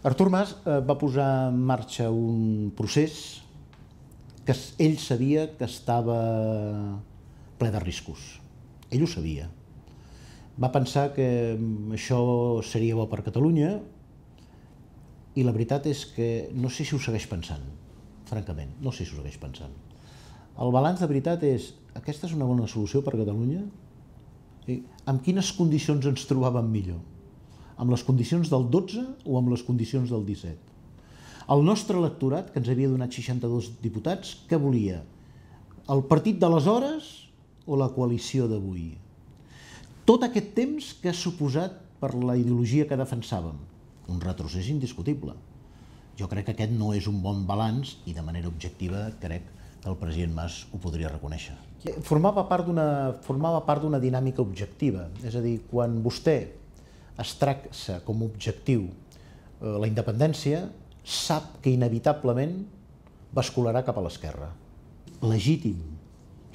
Artur Mas va posar en marxa un procés que ell sabia que estava ple de riscos. Ell ho sabia. Va pensar que això seria bo per Catalunya i la veritat és que no sé si ho segueix pensant, francament, no sé si ho segueix pensant. El balanç de veritat és, aquesta és una bona solució per a Catalunya? Amb quines condicions ens trobàvem millor? Amb les condicions del 12 o amb les condicions del 17? El nostre electorat, que ens havia donat 62 diputats, què volia? El partit d'aleshores o la coalició d'avui? Tot aquest temps que ha suposat per la ideologia que defensàvem, un retrocés indiscutible. Jo crec que aquest no és un bon balanç i de manera objectiva crec que el president Mas ho podria reconèixer. Formava part d'una dinàmica objectiva, és a dir, quan vostè es traça com a objectiu la independència, sap que inevitablement bascularà cap a l'esquerra. Legítim.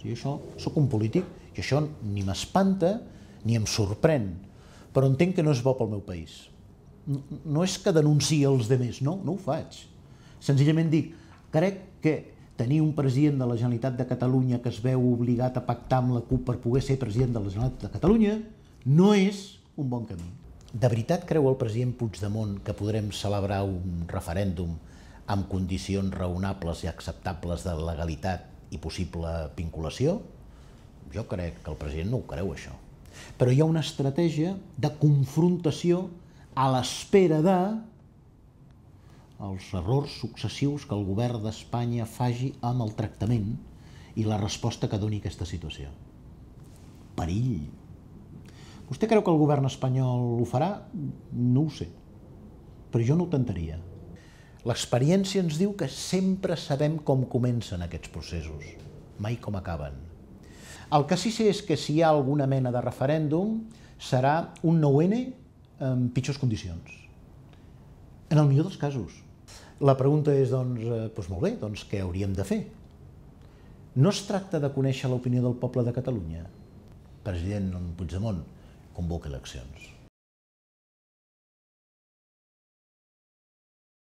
Jo soc un polític i això ni m'espanta ni em sorprèn, però entenc que no és bo pel meu país. No és que denunciï els altres, no ho faig. Senzillament dic, crec que tenir un president de la Generalitat de Catalunya que es veu obligat a pactar amb la CUP per poder ser president de la Generalitat de Catalunya no és un bon camí. De veritat creu el president Puigdemont que podrem celebrar un referèndum amb condicions raonables i acceptables de legalitat i possible vinculació? Jo crec que el president no ho creu, això. Però hi ha una estratègia de confrontació a l'espera dels errors successius que el govern d'Espanya faci amb el tractament i la resposta que doni aquesta situació. Perill. Vostè creu que el govern espanyol ho farà? No ho sé, però jo no ho tentaria. L'experiència ens diu que sempre sabem com comencen aquests processos, mai com acaben. El que sí sé és que si hi ha alguna mena de referèndum serà un 9N en pitjors condicions. En el millor dels casos. La pregunta és, doncs molt bé, doncs què hauríem de fer? No es tracta de conèixer l'opinió del poble de Catalunya. President Puigdemont, convoca eleccions.